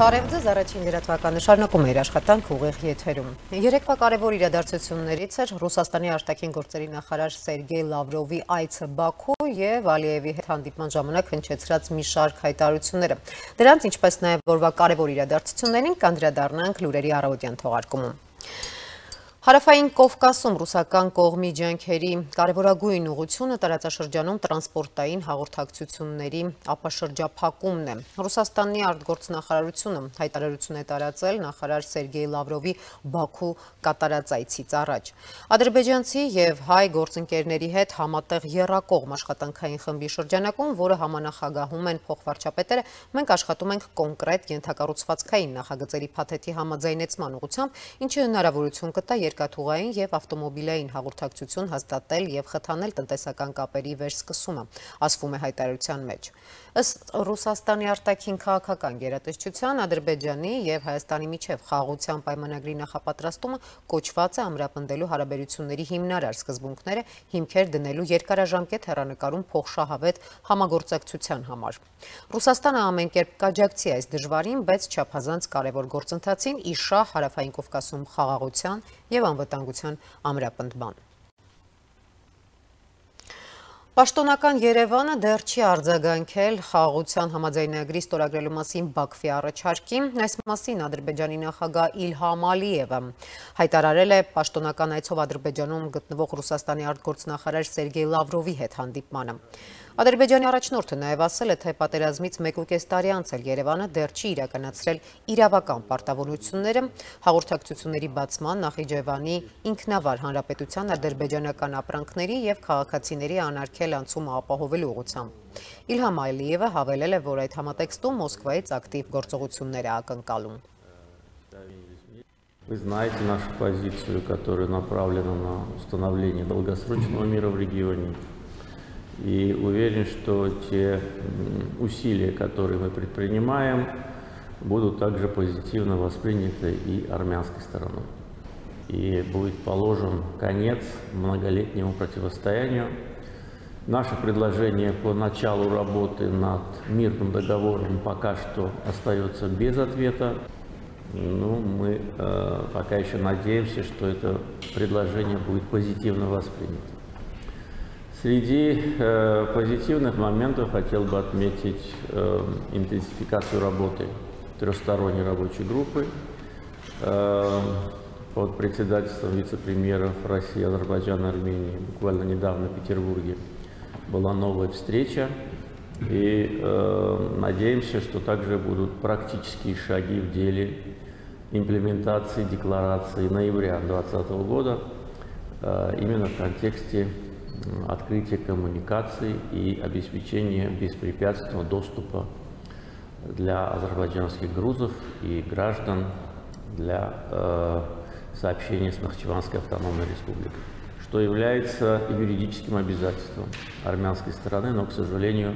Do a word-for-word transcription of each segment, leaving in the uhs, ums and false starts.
Բարև ձեզ, առաջին լրատվականը շարունակում է իր աշխատանք ուղիղ եթերում։ Երեկվա կարևոր իրադարձություններից էր Ռուսաստանի արտաքին գործերի նախարար Սերգեյ Լավրովի այցը Բաքու եւ Ալիևի հետ հանդիպման ժամանակ հնչեցրած մի շարք հայտարարությունները։ Դրանց, ինչպես նաեւ օրվա կարևոր իրադարձություններին կանդրադառնանք լուրերի առավոտյան թողարկումում։ Հարավային Կովկասում ռուսական կողմի ջանքերի կարևորագույն ուղղությունը տարածաշրջանում տրանսպորտային հաղորդակցությունների ապաշրջափակումն է։ Ռուսաստանի արտգործնախարարությունը հայտարարություն է տարածել նախարար Սերգեյ Լավրովի Բաքու կատարած այցից առաջ։ Ադրբեջանցի եւ հայ գործընկերների հետ համատեղ եռակողմ աշխատանքային խմբի շրջանակում, որը համանախագահում են փոխվարչապետերը, մենք աշխատում ենք կոնկրետ ենթակառուցվածքային նախագծերի փաթեթի համաձայնեցման ուղղությամբ, ինչը հնարավորություն կտա երկաթուղային եւ ավտոմոբիլային հաղորդակցություն հաստատել եւ խթանել տնտեսական կապերի վերսկսումը, ասվում է հայտարարության մեջ։ Ըստ Ռուսաստանի արտաքին քաղաքական գերատեսչության, Ադրբեջանի եւ Հայաստանի միջև խաղաղության պայմանագրի նախապատրաստումը կոչված է ամրապնդելու հարաբերությունների հիմնարար սկզբունքները հիմքեր դնելու երկարաժամկետ հեռանկարում փոխշահավետ համագործակցության համար։ Ռուսաստանը ամեն կերպ կաջակցի այս դժվարին, բայց չափազանց կարևոր գործընթացին իշահ Հարավային Կովկասում խաղաղության եւ անվտանգության ամրապնդման։ Պաշտոնական Երևանը դեռ չի արձագանքել խաղաղության համաձայնագրի ստորագրելու մասին Բաքվի առաջարկին, այս մասին Ադրբեջանի նախագահ Իլհամ Ալիևը հայտարարել է պաշտոնական այցով Ադրբեջանում գտնվող Ռուսաստանի արտգործնախարար Սերգեյ Լավրովի հետ հանդիպմանը։ Ադրբեջանի առաջնորդը նաև ասել է, թե պատերազմից մեկ ու կես տարի անց էլ Երևանը դեռ չի իրականացրել իրավական պարտավորությունները հաղորդակցությունների բացման, Նախիջևանի ինքնավար հանրապետության ադրբեջանական ապրանքների եւ քաղաքացիների անարգել անցումը ապահովելու ուղղությամբ։ Իլհամ Ալիևը հավելել է, որ այդ համատեքստում Մոսկվայից ակտիվ գործողություններ է ակնկալում։ Вы знаете нашу позицию, которая направлена на установление долгосрочного мира в регионе. И уверен, что те усилия, которые мы предпринимаем, будут также позитивно восприняты и армянской стороной. И будет положен конец многолетнему противостоянию. Наше предложение по началу работы над мирным договором пока что остается без ответа. Ну, мы э, пока еще надеемся, что это предложение будет позитивно воспринято. Среди э, позитивных моментов хотел бы отметить э, интенсификацию работы трехсторонней рабочей группы э, под председательством вице-премьеров России, Азербайджана, Армении. Буквально недавно в Петербурге была новая встреча. И э, надеемся, что также будут практические шаги в деле имплементации декларации ноября две тысячи двадцатого года э, именно в контексте открытия коммуникаций и обеспечения беспрепятственного доступа для азербайджанских грузов и граждан для э, сообщения с Нахчеванской автономной республикой, что является юридическим обязательством армянской стороны, но, к сожалению,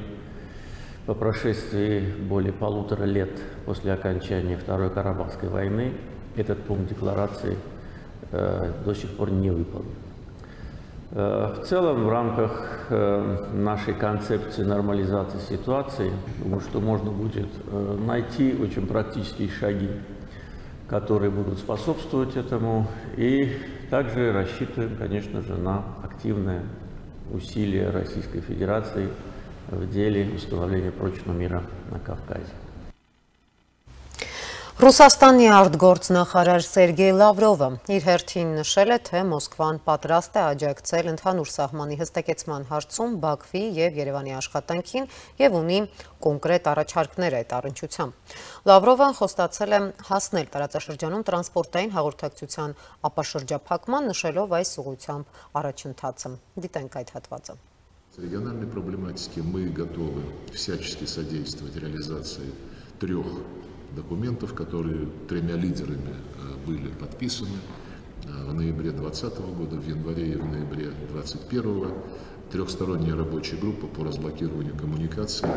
по прошествии более полутора лет после окончания Второй Карабахской войны этот пункт декларации э, до сих пор не выполнен. В целом, в рамках нашей концепции нормализации ситуации, думаю, что можно будет найти очень практические шаги, которые будут способствовать этому, и также рассчитываем, конечно же, на активное усилие Российской Федерации в деле установления прочного мира на Кавказе. Ռուսաստանի արտգործնախարար Սերգեյ Լավրովը իր հերթին նշել է, թե Մոսկվան պատրաստ է աջակցել ընդհանուր սահմանի հստակեցման հարցում Բաքվի եւ Երևանի աշխատանքին եւ ունի կոնկրետ առաջարկներ այդ առնչությամբ։ Լավրովը խոստացել է հասնել տարածաշրջանում տրանսպորտային հաղորդակցության ապաշրջափակման, նշելով այս ուղղությամբ առաջընթացը։ Դիտենք այդ հատվածը։ С региональной проблематики мы готовы всячески содействовать реализации трех документов, которые тремя лидерами были подписаны в ноябре две тысячи двадцатого года, в январе и в ноябре две тысячи двадцать первого. Трехсторонняя рабочая группа по разблокированию коммуникаций,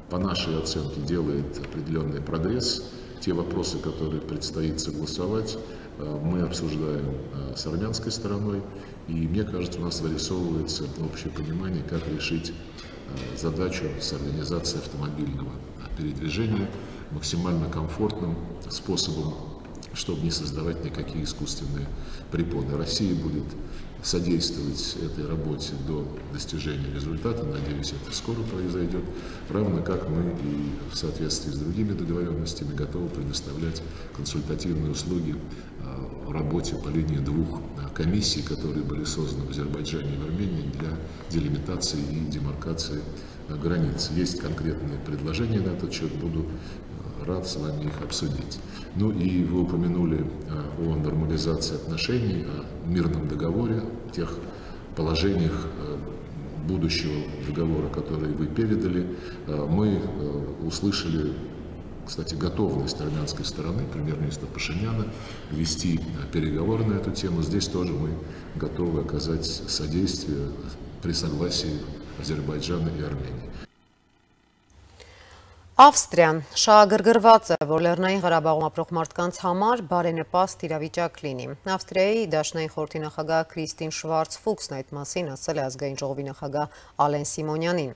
по нашей оценке, делает определенный прогресс. Те вопросы, которые предстоит согласовать, мы обсуждаем с армянской стороной, и мне кажется, у нас вырисовывается общее понимание, как решить задачу с организацией автомобильного передвижения максимально комфортным способом, чтобы не создавать никакие искусственные препоны. Россия будет содействовать этой работе до достижения результата. Надеюсь, это скоро произойдет. Равно как мы и в соответствии с другими договоренностями готовы предоставлять консультативные услуги в работе по линии двух комиссий, которые были созданы в Азербайджане и в Армении для делимитации и демаркации границ. Есть конкретные предложения на этот счет, буду рад с вами их обсудить. Ну и вы упомянули о нормализации отношений, о мирном договоре, тех положениях будущего договора, которые вы передали. Мы услышали, кстати, готовность армянской стороны, премьер-министра Пашиняна, вести переговоры на эту тему. Здесь тоже мы готовы оказать содействие при согласии Азербайджана и Армении. Ավստրիան շահագրգռված է, որ Լեռնային Ղարաբաղում ապրող մարդկանց համար բարենպաստ իրավիճակ լինի։ Ավստրիայի Դաշնային խորհրդի նախագահ Քրիստին Շվարց-Ֆուքսն այդ մասին ասել է ազգային ժողովի նախագահ Ալեն Սիմոնյանին։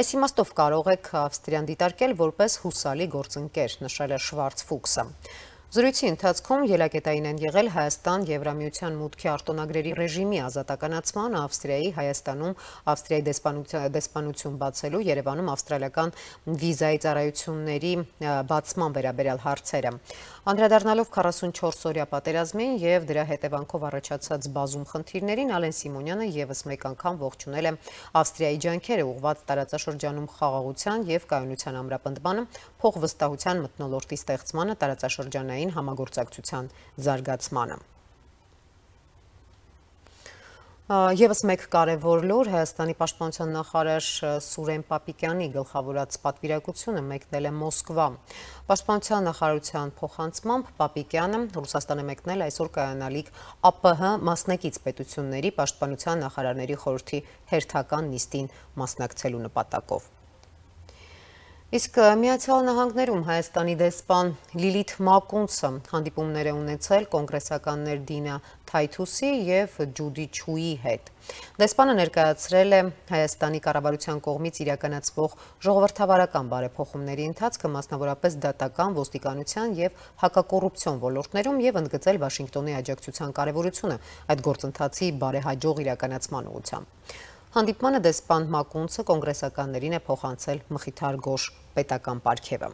Այս իմաստով կարող եք Ավստրիան դիտարկել որպես հուսալի գործընկեր, նշել է Շվարց-Ֆուքսը։ Զրույցի ընթացքում ելակետային են եղել Հայաստան Եվրամիության մուտքի արտոնագրերի ռեժիմի ազատականացման, Ավստրիայի Հայաստանում Ավստրիայի դեսպանություն բացելու, Երևանում ավստրալիական վիզայի ծառայությունների բացման վերաբերյալ հարցերը։ Անդրադառնալով քառասունչորս օրյա պատերազմին եւ դրա հետևանքով առաջացած բազում խնդիրներին, Ալեն Սիմոնյանը եւս մեկ անգամ ողջունել է Ավստրիայի ջանքերը ուղղված տարածաշրջանում խաղաղության եւ կայունության ամրապնդմանը, փոխվստահության մթնոլորտի ստեղծմանը, տարածաշրջանային համագործակցության զարգացմանը։ Եվս մեկ կարևոր լուր Հայաստանի պաշտպանության նախարար Սուրեն Պապիկյանի գլխավորած պատվիրակությունը մեկնել է Մոսկվա։ Պաշտպանության նախարարության փոխանցմամբ Պապիկյանը Ռուսաստան է մեկնել այսօր կայանալիք ԱՊՀ մասնակից պետությունների պաշտպանության նախարարների խորհրդի հերթական նիստին մասնակցելու նպատակով։ Իսկ Միացյալ Նահանգներում Հայաստանի դեսպան Լիլիթ Մակունցը հանդիպումներ է ունեցել կոնգրեսականներ Դինա Թայթուսի եւ Ջուդի Չուի հետ։ Դեսպանը ներկայացրել է Հայաստանի կառավարության կողմից իրականացվող ժողովրդավարական բարեփոխումների ընթացքը, մասնավորապես դատական, ոստիկանության եւ հակակոռուպցիոն ոլորտներում եւ ընդգծել Վաշինգտոնի աջակցության կարեւորությունը այդ գործընթացի բարեհաջող իրականացման ուղղությամբ։ Հանդիպմանը դեսպան Մակունցը կոնգրեսականներին է փոխանցել Մխիթար Գոշ պետական պարգևը։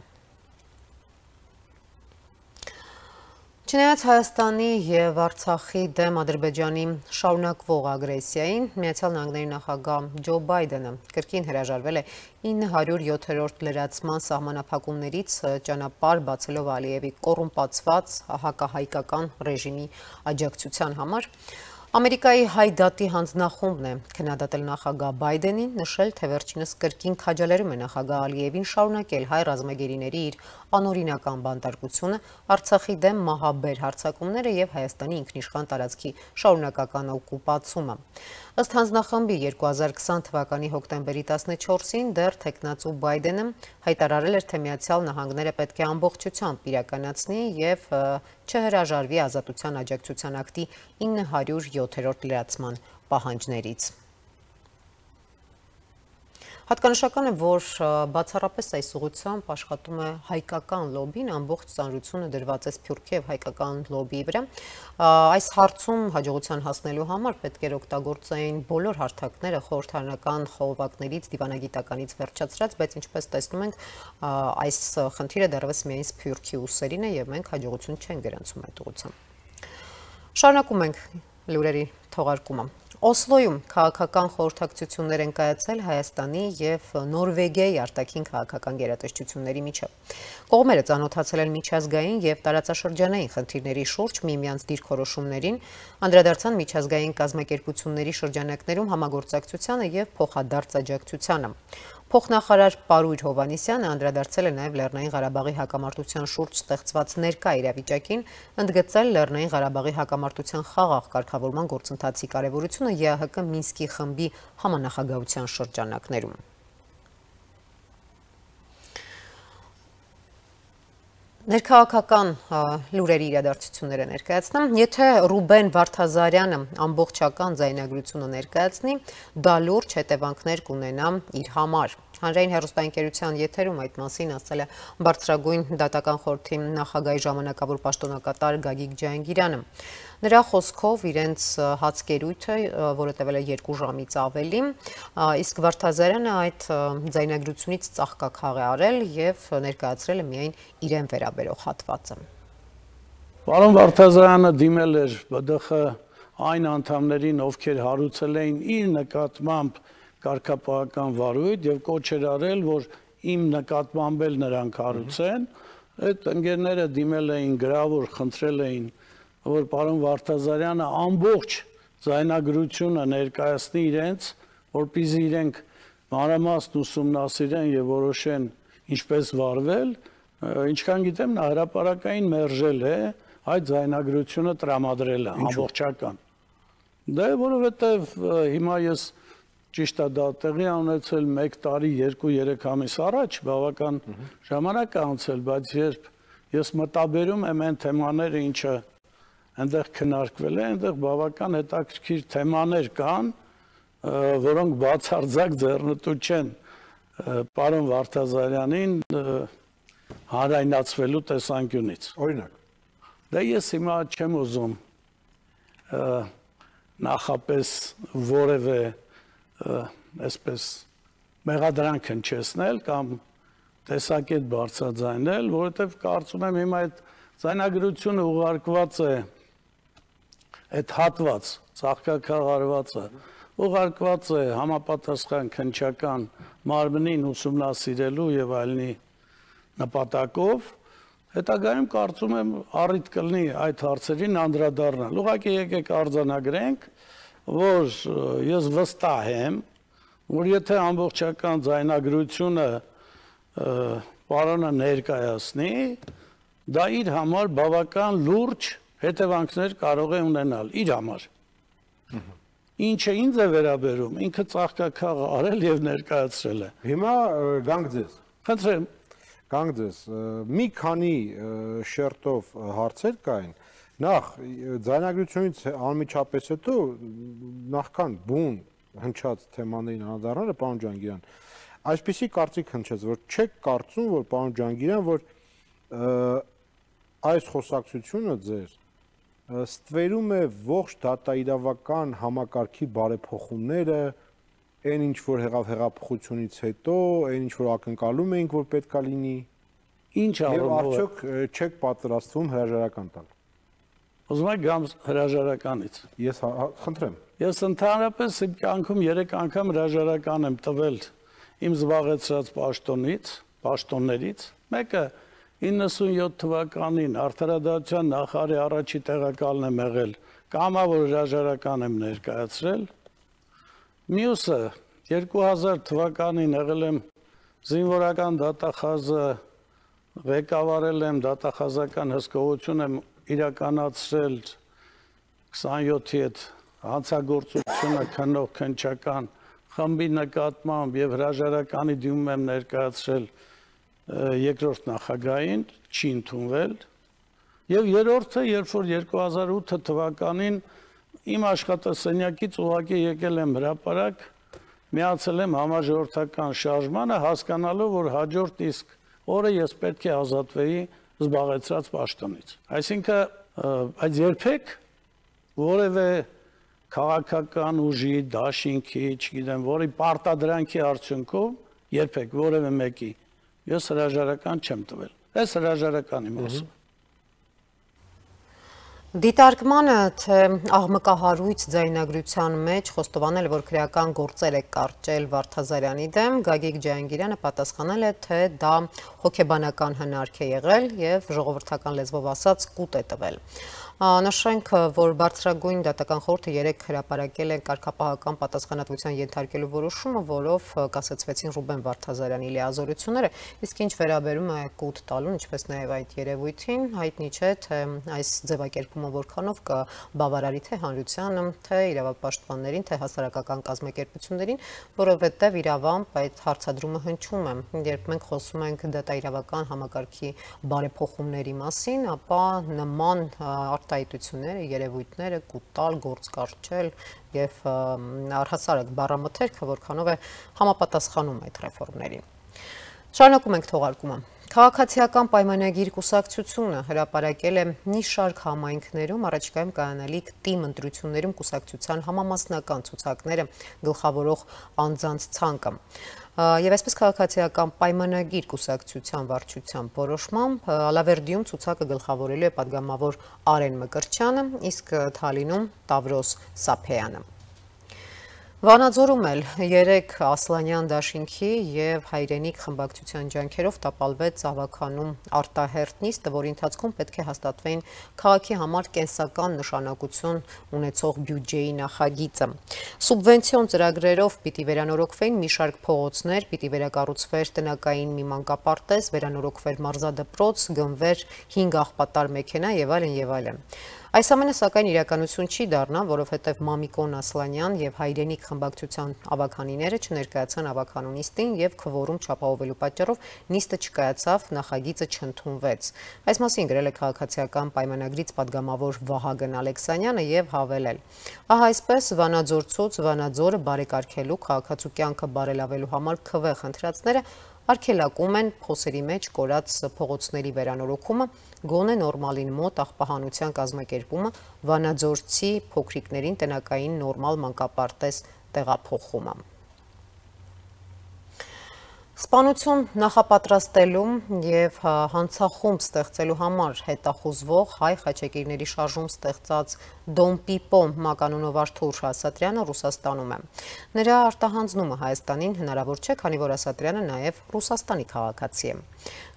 Չնայած Հայաստանի եւ Արցախի դեմ Ադրբեջանի շարունակվող ագրեսիային, Միացյալ Նահանգների նախագահ Ջո Բայդենը կրկին հրաժարվել է ինը հարյուր յոթերորդ լրացման սահմանափակումներից ճանապարհ բացելով Ալիևի կոռումպացված հակահայկական ռեժիմի աջակցության համար։ Ամերիկայի հայ դատի հանձնախումբն է քննադատել նախագահ Բայդենին, նշել, թե վերջինս կրկին քաջալերում է նախագահ Ալիևին շարունակել հայ ռազմագերիների իր անօրինական բանտարկությունը, Արցախի դեմ մահաբեր հարձակումները եւ Հայաստանի ինքնիշխան տարածքի շարունակական օկուպացումը։ Ըստ հանձնախմբի երկու հազար քսան թվականի հոկտեմբերի տասնչորսին դեռ թեկնածու Բայդենը հայտարարել էր, թե Միացյալ Նահանգները պետք է ամբողջությամբ իրականացնի եւ չհրաժարվի ազատության աջակցության ակտի ինը հարյուր յոթերորդ լրացման պահանջներից։ Հատկանշական է, որ բացառապես այս ուղղությամբ աշխատում է հայկական լոբին, ամբողջ ծանրությունը դրված է Սփյուռքի եւ հայկական լոբիի վրա։ Այս հարցում հաջողության հասնելու համար պետք է օգտագործեին բոլոր հարթակները խորհրդարանական խողովակներից, դիվանագիտականից վերջացրած, բայց ինչպես տեսնում ենք, այս խնդիրը դեռևս միայն Սփյուռքի ուսերին է եւ մենք հաջողություն չենք գրանցում այդ ուղղությամբ։ Շարունակում ենք լուրերի թողարկումը։ Օսլոյում քաղաքական խորհրդակցություններ են կայացել Հայաստանի եւ Նորվեգիայի արտաքին քաղաքական գերատեսչությունների միջև։ Կողմերը ծանոթացել են միջազգային եւ տարածաշրջանային խնդիրների շուրջ միմյանց դիրքորոշումներին, անդրադարձան միջազգային կազմակերպությունների շրջանակներում համագործակցությանը եւ փոխադարձ աջակցությանը։ Փոխնախարար Պարույր Հովհաննիսյանը անդրադարձել է նաև Լեռնային Ղարաբաղի հակամարտության շուրջ ստեղծված ներկա իրավիճակին, ընդգծել Լեռնային Ղարաբաղի հակամարտության խաղաղ կարգավորման գործընթացի կարևորությունը ԵԱՀԿ Մինսկի խմբի համանախագահության շրջանակներում։ Ներքաղաքական լուրերի իրադարձությունները ներկայացնեմ, եթե Ռուբեն Վարդազարյանը ամբողջական ձայնագրությունը ներկայացնի, դա լուրջ հետևանքներ կունենա իր համար։ Հանրային հեռուստաընկերության եթերում այդ մասին ասել է Բարձրագույն դատական խորհրդի նախագահի ժամանակավոր պաշտոնակատար Գագիկ Ջահանգիրյանը։ Նրա խոսքով իրենց հացկերույթը, որը տևել է երկու ժամից ավելի, իսկ Վարդազարյանը այդ ձայնագրությունից ծաղկաքաղ է արել եւ ներկայացրել է միայն իրեն վերաբերող հատվածը։ Պարոն Վարդազարյանը դիմել էր B D X այն անդամներին, ովքեր հարուցել էին իր նկատմամբ կարգապահական վարույթ եւ կոչ էր արել, որ իմ նկատմամբ էլ նրանք հարուցեն, այդ ընկերները դիմել էին գրավոր, խնդրել էին, որ պարոն Վարդազարյանը ամբողջ ձայնագրությունը ներկայացնի իրենց, որպեսզի իրենք մանրամասն ուսումնասիրեն եւ որոշեն ինչպես վարվել, ինչքան գիտեմ նա հրապարակային մերժել է այդ ձայնագրությունը տրամադրելը ամբողջական։ Դա որովհետեւ հիմա ես ճիշտ է դա տեղի ունեցել մեկ տարի, երկու, երեք ամիս առաջ, բավական ժամանակ է անցել, բայց երբ ես մտաբերում եմ այն թեմաները, ինչը այնտեղ քննարկվել է, այնտեղ բավական հետաքրքիր թեմաներ կան, որոնք բացարձակ ձեռնտու չեն պարոն Վարդազարյանին հանրայնացվելու տեսանկյունից։ Օրինակ։ Դա ես հիմա չեմ ուզում նախապես որևէ այսպես մեղադրանք հնչեցնել կամ տեսակետ բարձրաձայնել, որովհետև կարծում եմ հիմա այդ ձայնագրությունը ուղարկված է այդ հատված, ծաղկաքաղարվածը ուղարկված է համապատասխան քննչական մարմնին ուսումնասիրելու եւ այլնի նպատակով, հետագայում կարծում եմ առիթ կլինի այդ հարցերին անդրադառնալ։ Ուղղակի եկեք արձանագրենք, որ ես վստահ եմ, որ եթե ամբողջական ձայնագրությունը պարոնը ներկայացնի, դա իր համար բավական լուրջ հետևանքներ կարող է ունենալ իր համար։ Ինչը ինձ է վերաբերում, ինքը ծաղկաքաղ արել եւ ներկայացրել է։ Հիմա գանք ձեզ։ Խնդրեմ, գանք ձեզ։ Մի քանի շերտով հարցեր կային։ Նախ ձայնագրությունից անմիջապես հետո նախքան բուն հնչած թեմաներին անդրադառնալը պարոն Ջահանգիրյան, այսպիսի կարծիք հնչեց, որ չեք կարծում, որ պարոն Ջահանգիրյան, որ այս խոսակցությունը ձեր ստվերում է ողջ դատաիրավական համակարգի բարեփոխումները, այն ինչ որ եղավ հեղափոխությունից հետո, այն ինչ որ ակնկալում էինք, որ պետքա լինի, ինչ եւ արդյոք չեք պատրաստվում հրաժարական տալ։ Ուզում եք գամ հրաժարականից։ Ես խնդրեմ։ Ես ընդհանրապես իմ կյանքում երեք անգամ հրաժարական եմ տվել իմ զբաղեցրած պաշտոնից, պաշտոններից։ Մեկը իննսունյոթ թվականին արդարադատության նախարարի առաջի տեղակալն եմ եղել, կամավոր հրաժարական եմ ներկայացրել։ Մյուսը երկու հազար թվականին եղել եմ զինվորական դատախազը, ղեկավարել եմ դատախազական հսկողություն եմ իրականացրել քսանյոթի հետ հանցագործությունը քննող քննչական խմբի նկատմամբ եւ հրաժարականի դիմում եմ ներկայացրել երկրորդ նախագահին, չի ընդունվել եւ երրորդը, երբ որ երկու հազար ութ թվականին իմ աշխատասենյակից ուղղակի եկել եմ հրապարակ, միացել եմ համաժողովրդական շարժմանը, հասկանալով, որ հաջորդ իսկ օրը ես պետք է ազատվեի զբաղեցրած պաշտոնից։ Այսինքն այդ երբեք որևէ քաղաքական ուժի, դաշինքի, չգիտեմ, որի պարտադրանքի արդյունքում երբեք որևէ մեկի ես հրաժարական չեմ տվել։ Այս հրաժարականի մասը։ Դիտարկմանը, թե աղմկահարույց ձայնագրության մեջ խոստովանել է, որ քրեական գործեր է կարճել Վարդազարյանի դեմ, Գագիկ Ջահանգիրյանը պատասխանել է, թե դա հոգեբանական հնարք է եղել եւ ժողովրդական լեզվով ասած կուտ է տվել։ Նշենք, որ բարձրագույն դատական խորհուրդը երեկ հրապարակել է կարգապահական պատասխանատվության ենթարկելու որոշումը, որով կասեցվեցին Ռուբեն Վարդազարյանի լիազորությունները, իսկ ինչ վերաբերում է կուտ տալուն, ինչպես նաև այդ երևույթին, հայտնի չէ, թե այս ձևակերպումը որքանով կբավարարի թե հանրությանը, թե իրավապաշտպաններին, թե հասարակական կազմակերպություններին, որովհետև իրավամբ այդ հարցադրումը հնչում է, երբ մենք խոսում ենք դատաիրավական համակարգի բարեփոխումների մասին, ապա նման արտահայտությունները, երևույթները, կուտալ, գործ կառչել եւ առհասարակ բառամթերքը որքանով է համապատասխանում այդ ռեֆորմներին։ Շարունակում ենք թողարկումը։ Քաղաքացիական պայմանագիր կուսակցությունը հրապարակել է մի շարք համայնքներում առաջիկայում կայանալիք թիմ ընտրություններում կուսակցության համամասնական ցուցակները գլխավորող անձանց ցանկը։ Եվ այսպես քաղաքացիական պայմանագիր կուսակցության վարչության որոշմամբ Ալավերդիում ցուցակը գլխավորելու է պատգամավոր Արեն Մկրտչյանը, իսկ Թալինում Տավրոս Սափեյանը։ Վանաձորում էլ երեք Ասլանյան դաշինքի եւ Հայրենիք խմբակցության ջանքերով տապալվեց ավականում արտահերտ նիստը, որի ընթացքում պետք է հաստատվեին քաղաքի համար կենսական նշանակություն ունեցող բյուջեի նախագիծը։ Սուբվենցիոն ծրագրերով պիտի վերանորոգվեին մի շարք փողոցներ, պիտի վերակառուցվեր տնակային մի մանկապարտեզ, վերանորոգվեր մարզադպրոց, գնվեր հինգ աղբատար մեքենա եւ այլն եւ այլն։ Այս ամենը սակայն իրականություն չի դառնա, որովհետև Մամիկոն Ասլանյան եւ Հայրենիք խմբակցության ավականիները չներկայացան ավականու նիստին եւ քվորում չապահովելու պատճառով նիստը չկայացավ, նախագիծը չընդունվեց։ Այս մասին գրել է քաղաքացիական պայմանագրից պատգամավոր Վահագն Ալեքսանյանը եւ հավելել. Ահա այսպես Վանաձորցուց Վանաձորը բարեկարգելու քաղաքացու կյանքը բարելավելու համար քվե խնդրածները արգելակում են փոսերի մեջ կորած փողոցների վերանորոգումը, գոնե նորմալին մոտ աղբահանության կազմակերպումը, վանաձորցի փոքրիկներին տնակային նորմալ մանկապարտեզ տեղափոխումը։ Սպանություն նախապատրաստելու եւ հանցախումբ ստեղծելու համար հետախուզվող հայ խաչակիրների շարժում ստեղծած Դոն Պիպո մականունով Արթուր Ասատրյանը Ռուսաստանում է։ Նրա արտահանձնումը Հայաստանին հնարավոր չէ, քանի որ Ասատրյանը նաեւ Ռուսաստանի քաղաքացի է։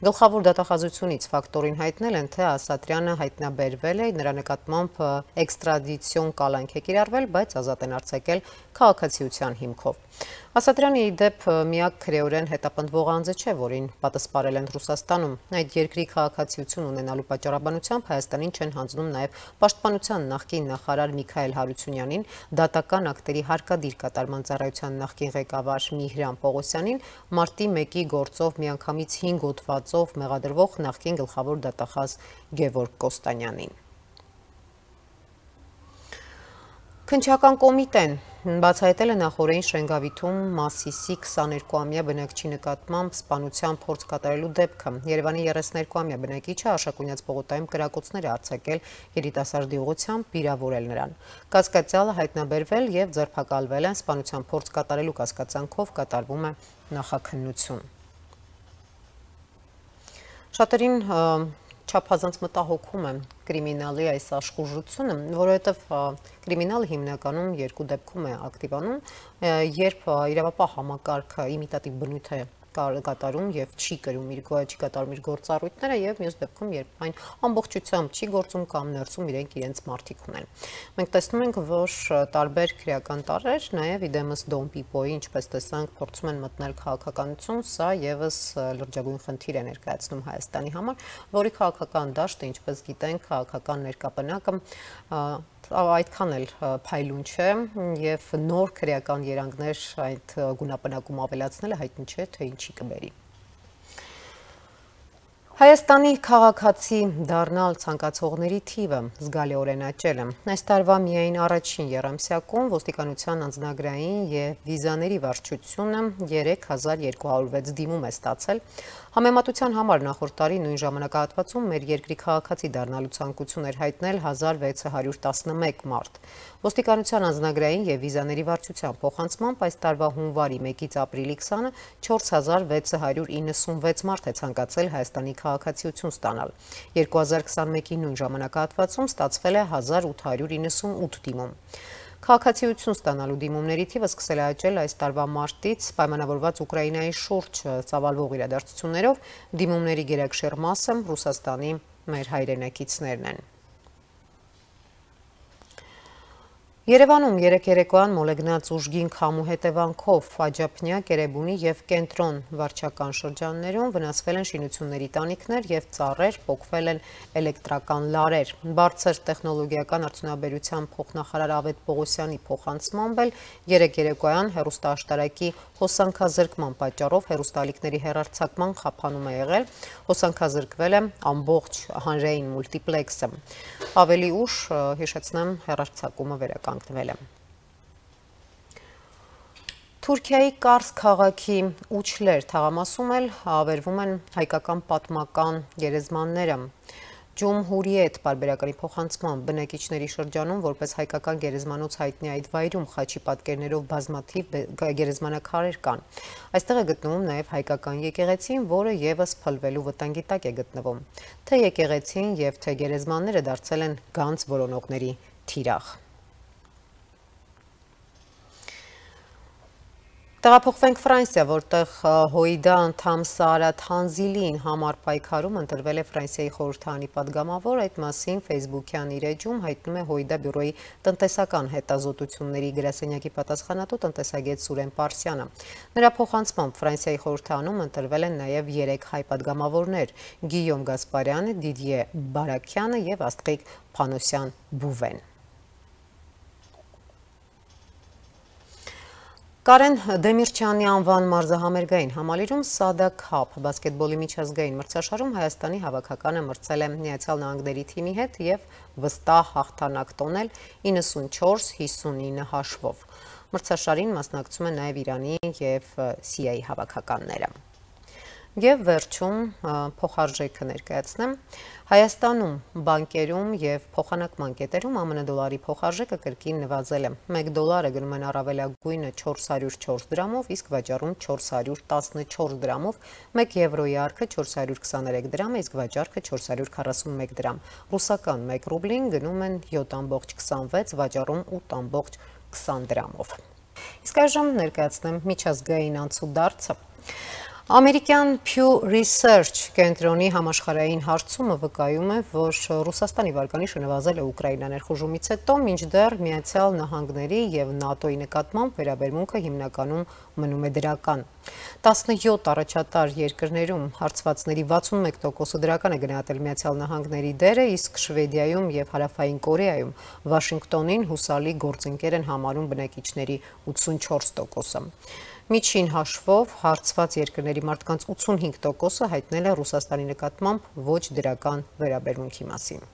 Գլխավոր դատախազությունից ֆակտորին հայտնել են, թե Ասատրյանը հայտնաբերվել է, նրա նկատմամբ էքստրադիցիոն կալանք է կիրառվել, բայց ազատ են արձակել քաղաքացիության հիմքով։ Ասատրյանը ի դեպ միակ քրեորեն հետապնդվող անձը չէ, որին պատասպարել են Ռուսաստանում։ Այդ երկրի քաղաքացիություն ունենալու պատճառաբանությամբ Հայաստանին չեն հանձնում նաև պաշտպանության նախկին նախարար Միքայել Հարությունյանին, դատական ակտերի հարկադիր կատարման ծառայության նախկին ղեկավար Միհրան Պողոսյանին, մարտի մեկի գործով միանգամից հինգ հոդվածով մեղադրվող նախկին գլխավոր դատախազ Գևորգ Կոստանյանին։ Քննչական կոմիտեն բացահայտել է նախօրեին Շենգավիթում Մասիսի քսաներկուամյա բնակչի նկատմամբ սպանության փորձ կատարելու դեպքը։ Երևանի երեսներկուամյա բնակիչը Աշակունյաց պողոտայում կրակոցներ է արձակել երիտասարդի ուղղությամբ, վիրավորել նրան։ Կասկածյալը հայտնաբերվել եւ ձերբակալվել է, սպանության փորձ կատարելու կասկածանքով կատարվում է նախաքննություն։ Շատերին չափազանց մտահոգում է կրիմինալի այս աշխուժությունը, որովհետև կրիմինալը հիմնականում երկու դեպքում է ակտիվանում, երբ իրավապահ համակարգը իմիտատիվ բնույթ է կատարում եւ չի կրում իր չի կատարում իր գործառույթները եւ մյուս դեպքում երբ այն ամբողջությամբ չի գործում կամ ներսում իրենք իրենց մարտիկ ունեն։ Մենք տեսնում ենք, որ տարբեր քրեական տարրեր նաեւ իդեմս Դոն Պիպոյի, ինչպես տեսանք, փորձում են մտնել քաղաքականություն, սա եւս լրջագույն խնդիր է ներկայացնում Հայաստանի համար, որի քաղաքական դաշտը, ինչպես գիտենք, քաղաքական ներկապնակը այդքան էլ փայլուն չէ եւ նոր քրեական երանգներ այդ գունապնակում ավելացնելը հայտնի չէ, թե ինչի կբերի։ Հայաստանի քաղաքացի դառնալ ցանկացողների թիվը զգալիորեն աճել է։ Այս տարվա միայն առաջին եռամսյակում ոստիկանության անձնագրային եւ վիզաների վարչությունը երեք հազար երկու հարյուր վեց դիմում է ստացել։ Համեմատության համար նախորդ տարի նույն ժամանակահատվածում մեր երկրի քաղաքացի դառնալու ցանկություն էր հայտնել հազար վեց հարյուր տասնմեկ մարդ։ Ոստիկանության անձնագրային եւ վիզաների վարչության փոխանցմամբ այս տարվա հունվարի մեկից ապրիլի քսանը չորս հազար վեց հարյուր իննսունվեց մարդ է ցանկացել Հայաստանի քաղաքացիություն ստանալ։ երկու հազար քսանմեկի նույն ժամանակահատվածում ստացվել է հազար ութ հարյուր իննսունութ դիմում։ Քաղաքացիություն ստանալու դիմումների թիվը սկսել է աճել այս տարվա մարտից, պայմանավորված Ուկրաինայի շուրջ ծավալվող իրադարձություններով, դիմումների գերակշիռ մասը Ռուսաստանի մեր հայրենակիցներն են։ Երևանում երեկ երեկոյան մոլեգնած ուժգին քամու հետևանքով Աջափնյա, Կերեբունի եւ Կենտրոն վարչական շրջաններում վնասվել են շինությունների տանիքներ եւ ծառեր, պոկվել են էլեկտրական լարեր։ Բարձր տեխնոլոգիական արդյունաբերության փոխնախարար Ավետ Պողոսյանի փոխանցմամբ էլ երեկ երեկոյան հեռուստաաշտարակի հոսանքազրկման պատճառով հեռուստալիքների հեռարձակման խափանում է եղել, հոսանքազրկվել է ամբողջ հանրային մուլտիպլեքսը։ Ավելի ուշ հիշեցնեմ հեռարձակումը վերականգնվել է։ Թուրքիայի Կարս քաղաքի Ուչլեր թաղամասում էլ ավերվում են հայկական պատմական գերեզմանները։ Ջումհուրիետ պարբերականի փոխանցման բնակիչների շրջանում որպես հայկական գերեզմանոց հայտնի այդ վայրում խաչի պատկերներով բազմաթիվ գերեզմանակարեր կան։ Այստեղ է գտնվում նաև հայկական եկեղեցին, որը եւս փլվելու վտանգի տակ է գտնվում։ Թե եկեղեցին եւ թե գերեզմանները դարձել են գանձ որոնողների թիրախ։ Տեղափոխվենք Ֆրանսիա, որտեղ Հոյդա անդամ Սարաթ Հանզիլին համար պայքարում ընտրվել է Ֆրանսիայի խորհրդարանի падգամավոր, այդ մասին Facebook-յան իր էջում հայտնում է Հոյդա բյուրոյի տնտեսական հետազոտությունների գրասենյակի պատասխանատու տնտեսագետ Սուրեն Պարսյանը։ Նրա փոխանցմամբ Ֆրանսիայի խորհրդարանում ընտրվել են նաև երեք հայ падգամավորներ՝ Գիյոմ Գասպարյանը, Դիդիե Բարաքյանը եւ Աստղիկ Փանոսյան-Բուվեն։ Կարեն Դեմիրճյանի անվան մարզահամերգային համալիրում Սադա Քափ բասկետբոլի միջազգային մրցաշարում Հայաստանի հավաքականը մրցել է Միացյալ Նահանգների թիմի հետ եւ վստահ հաղթանակ տոնել իննսունչորս հիսունինը հաշվով։ Մրցաշարին մասնակցում են նաեւ Իրանի եւ Սիրիայի հավաքականները։ Եվ վերջում փոխարժեքը ներկայացնեմ, Հայաստանում բանկերում եւ փոխանակման կետերում ԱՄՆ դոլարի փոխարժեքը կրկին նվազել է։ մեկ դոլարը գնում են առավելագույնը չորս հարյուր չորս դրամով, իսկ վաճառում չորս հարյուր տասնչորս դրամով, մեկ եվրոյի արքը չորս հարյուր քսաներեք դրամ, իսկ վաճառքը չորս հարյուր քառասունմեկ դրամ։ Ռուսական մեկ ռուբլին գնում են յոթ կoma քսանվեց, վաճառում ութ կoma քսան դրամով։ Իսկ այժմ ներկայացնեմ միջազգային անցուդարձը։ Ամերիկյան Pew Research կենտրոնի համաշխարհային հարցումը վկայում է, որ Ռուսաստանի վարկանիշը նվազել է Ուկրաինա ներխուժումից հետո, մինչդեռ Միացյալ Նահանգների եւ ՆԱՏՕ-ի նկատմամբ վերաբերմունքը հիմնականում մնում է դրական։ տասնյոթ առաջատար երկրներում հարցվածների վաթսունմեկ տոկոսը դրական է գնահատել Միացյալ Նահանգների դերը, իսկ Շվեդիայում եւ Հարավային Կորեայում Վաշինգտոնին հուսալի գործընկեր են համարում բնակիչների ութսունչորս տոկոսը։ Միջին հաշվով հարցված երկրների մարդկանց ութսունհինգ տոկոսը հայտնել է Ռուսաստանի նկատմամբ ոչ դրական վերաբերմունքի մասին։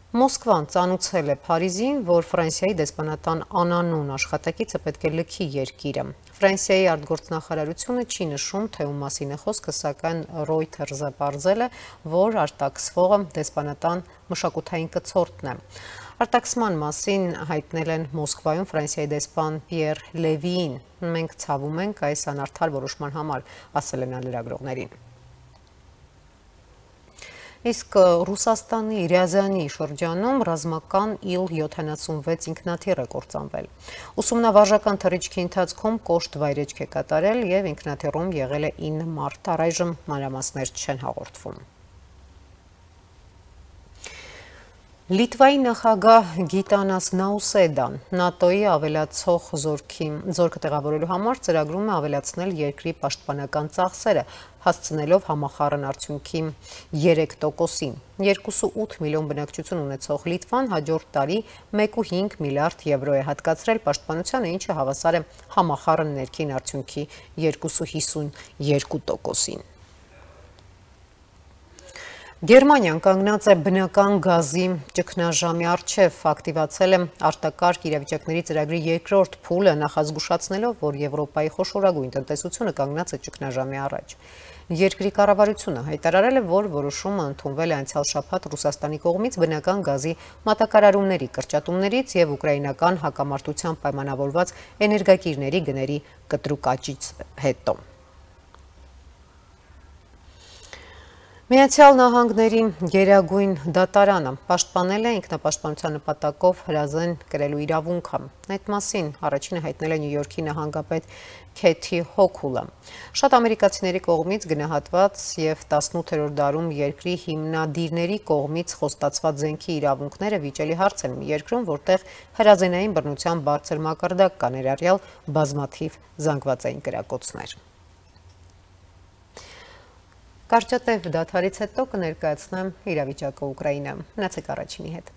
Մոսկվան ծանուցել է Փարիզին, որ Ֆրանսիայի դեսպանատան անանուն աշխատակիցը պետք է լքի երկիրը։ Ֆրանսիայի արտգործնախարարությունը չի նշում, թե ում մասին է խոսքը, սակայն Reuters-ը պարզել է, որ արտաքսվողը դեսպանատան մշակութային կցորդն է։ Արտաքսման մասին հայտնել են Մոսկվայում Ֆրանսիայի դեսպան Պիեր Լևիին։ Մենք ցավում ենք այս անարդար որոշման համար, ասել է նա լրագրողներին։ Իսկ Ռուսաստանի Ռիազանի շրջանում ռազմական իլ յոթանասունվեց ինքնաթիռ է կործանվել։ Ուսումնավարժական թռիչքի ընթացքում կոշտ վայրեջք է կատարել եւ ինքնաթիռում եղել է ինը մարդ, առայժմ մանրամասներ չեն հաղորդվում։ Լիտվայի նախագահ Գիտանաս Նաուսեդան ՆԱՏՕ-ի ավելացող զորքի զորքը տեղավորելու համար ծրագրում է ավելացնել երկրի պաշտպանական ծախսերը, հասցնելով համախառն արդյունքի երեք տոկոսին։ երկու կoma ութ միլիոն բնակչություն ունեցող Լիտվան հաջորդ տարի մեկ կoma հինգ միլիարդ եվրո է հատկացրել պաշտպանությանը, ինչը հավասար է համախառն ներքին արդյունքի երկու կoma հիսունյոթ տոկոսին։ Գերմանիան կանգնած է բնական գազի ճգնաժամի առջև, ակտիվացել է արտակարգ իրավիճակների ծրագրի երկրորդ փուլը, նախազգուշացնելով, որ Եվրոպայի խոշորագույն տնտեսությունը կանգնած է ճգնաժամի առաջ։ Երկրի կառավարությունը հայտարարել է, որ որոշումը ընդունվել է անցյալ շաբաթ Ռուսաստանի կողմից բնական գազի մատակարարումների կրճատումներից եւ ուկրաինական հակամարտության պայմանավորված էներգակիրների գների կտրուկ աճից հետո։ Միացյալ Նահանգների գերագույն դատարանը պաշտպանել է ինքնապաշտպանության նպատակով հրազեն կրելու իրավունքը։ Այդ մասին առաջինը հայտնել է Նյու Յորքի նահանգապետ Քեթի Հոքուլը։ Շատ ամերիկացիների կողմից գնահատված եւ տասնութերորդ դարում երկրի հիմնադիրների կողմից խոստացված զենքի իրավունքները վիճելի հարց են մի երկրում, որտեղ հրազենային բռնության բարձր մակարդակ կա, ներառյալ բազմաթիվ զանգվածային կրակոցներ։ Կարճատև դադարից հետո կներկայացնեմ իրավիճակը Ուկրաինայում։ Մնացեք առաջինի հետ։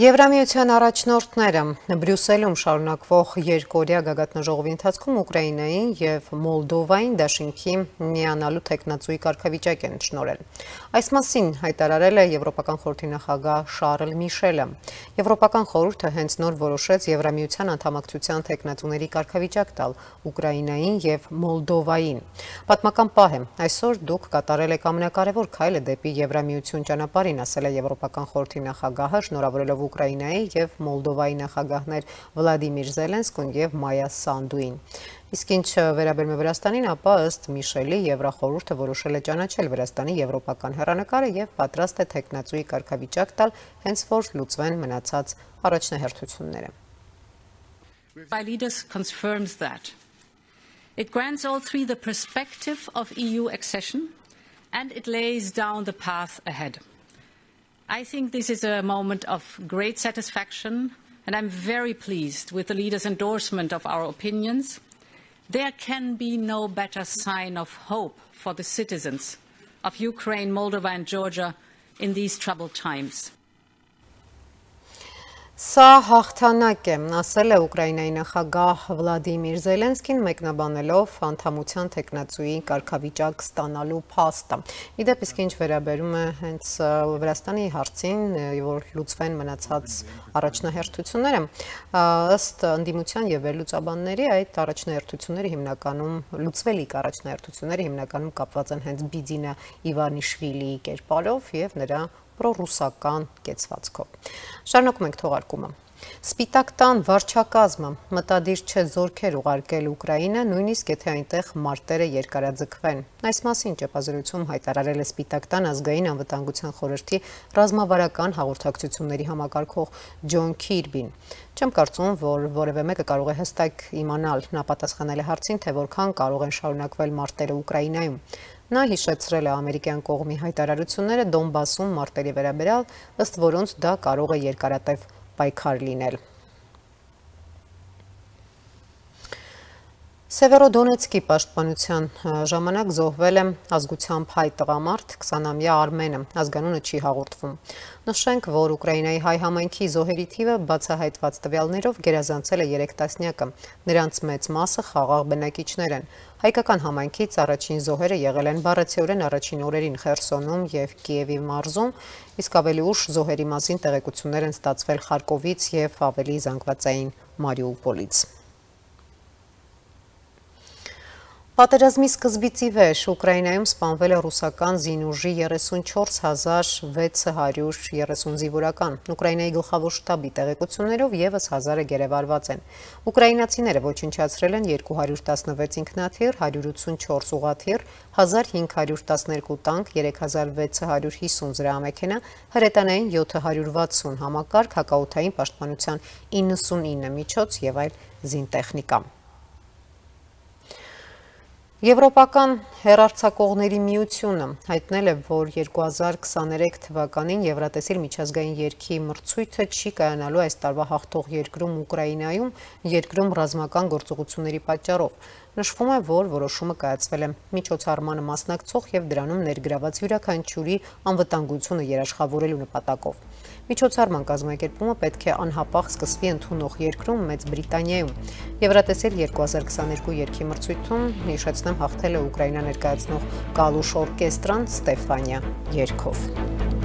Եվրամիության առաջնորդները Բրյուսելում շարունակվող երկօրյա գագաթնաժողովի ընթացքում Ուկրաինային եւ Մոլդովային դաշինքի միանալու տեխնացուի կարգավիճակ են շնորհել։ Այս մասին հայտարարել է Եվրոպական խորհրդի նախագահ Շարլ Միշելը։ Եվրոպական խորհուրդը հենց նոր որոշեց Եվրամիության անդամակցության տեխնացուների կարգավիճակ տալ Ուկրաինային եւ Մոլդովային։ Պատմական պահ է, այսօր դուք կատարել եք ամենակարևոր քայլը դեպի Եվրամիություն ճանապարհին, ասել է Եվրոպական խորհրդի նախագահը, շնորհավորելով Ուկրաինայի եւ Մոլդովայի նախագահներ Վլադիմիր Զելենսկուն եւ Մայա Սանդուին։ Իսկ ինչ վերաբերում է Վրաստանին, ապա ըստ Միշելի Եվրախորհուրդը որոշել է ճանաչել Վրաստանի եվրոպական հեռանկարը եւ պատրաստ է տեխնացուի կարգավիճակ տալ, հենց որ լուծվեն մնացած առաջնահերթությունները։ By leaders confirms that it grants all three the perspective of E U accession and it lays down the path ahead. I think this is a moment of great satisfaction, and I'm very pleased with the leaders' endorsement of our opinions. There can be no better sign of hope for the citizens of Ukraine, Moldova and Georgia in these troubled times. Սա հաղթանակ է, ասել է Ուկրաինայի նախագահ Վլադիմիր Զելենսկին, մեկնաբանելով անդամության տեխնացուի կարգավիճակ ստանալու փաստը։ Իդեպ իսկ ինչ վերաբերում է հենց Վրաստանի հարցին, որ լուծվեն մնացած առաջնահերթությունները, ըստ ընդդիմության եւ վերլուծաբանների, այդ առաջնահերթությունները հիմնականում լուծվելիք առաջնահերթությունները հիմնականում կապված են հենց Բիդինա Իվանիշվիլիի կերպարով եւ նրա պրոռուսական կեցվածքով։ Շարունակում ենք թողարկումը։ Սպիտակ տան վարչակազմը մտադիր չէ զորքեր ուղարկել Ուկրաինա, նույնիսկ եթե այնտեղ մարտերը երկարաձգվեն։ Այս մասին ճեպազրույցում հայտարարել է Սպիտակ տան ազգային անվտանգության խորհրդի ռազմավարական հաղորդակցությունների համակարգող Ջոն Քիրբին։ Չեմ կարծում, որ որևէ մեկը կարող է հստակ իմանալ, նա պատասխանել է հարցին, թե որքան կարող են շարունակվել մարտերը Ուկրաինայում։ Նա հիշեցրել է ամերիկյան կողմի հայտարարությունները Դոնբասում մարտերի վերաբերյալ, ըստ որոնց դա կարող է երկարատև պայքար լինել։ Սևերոդոնեցկի պաշտպանության ժամանակ զոհվել է ազգությամբ հայ տղամարդ քսանամյա Արմենը, ազգանունը չի հաղորդվում։ Նշենք, որ Ուկրաինայի հայ համայնքի զոհերի թիվը բացահայտված տվյալներով գերազանցել է երեք տասնյակը, նրանց մեծ մասը խաղաղ բնակիչներ են։ Հայկական համայնքից առաջին զոհերը եղել են բառացիորեն առաջին օրերին Խերսոնում եւ Կիևի մարզում, իսկ ավելի ուշ զոհերի մասին տեղեկություններ են ստացվել Խարկովից եւ ավելի զանգվածային Մարիուպոլից։ Պատերազմի սկզբից ի վեր Ուկրաինայում սպանվել է ռուսական զինուժի երեսունչորս հազար վեց հարյուր երեսուն զինվորական։ Ուկրաինայի գլխավոր շտաբի տեղեկություններով ևս հազարը գերեվարված են։ Ուկրաինացիները ոչնչացրել են երկու հարյուր տասնվեց ինքնաթիռ, հարյուր ութսունչորս ուղղաթիռ, հազար հինգ հարյուր տասներկու տանկ, երեք հազար վեց հարյուր հիսուն զրահամեքենա, հրետանային յոթ հարյուր վաթսուն համակարգ, հակաօդային պաշտպանության իննսունինը միջոց եւ այլ զինտեխնիկա։ Եվրոպական հեռարձակողների միությունը հայտնել է, որ երկու հազար քսաներեք թվականին Եվրատեսիլ միջազգային երգի մրցույթը չի կայանալու այս տարվա հաղթող երկրում Ուկրաինայում, երկրում ռազմական գործողությունների պատճառով։ Նշվում է, որ որոշումը կայացվել է միջոցառմանը մասնակցող եւ դրանում ներգրաված յուրաքանչյուրի անվտանգությունը երաշխավորելու նպատակով։ Միջոցառման կազմակերպումը պետք է անհապաղ սկսվի ընդունող երկրում Մեծ Բրիտանիայում։ Եվրատեսիլ երկու հազար քսաներկու երգի մրցույթում հիշեցնեմ հաղթել է Ուկրաինա ներկայացնող Կալուշ օրկեստրան Ստեֆանիա երգով։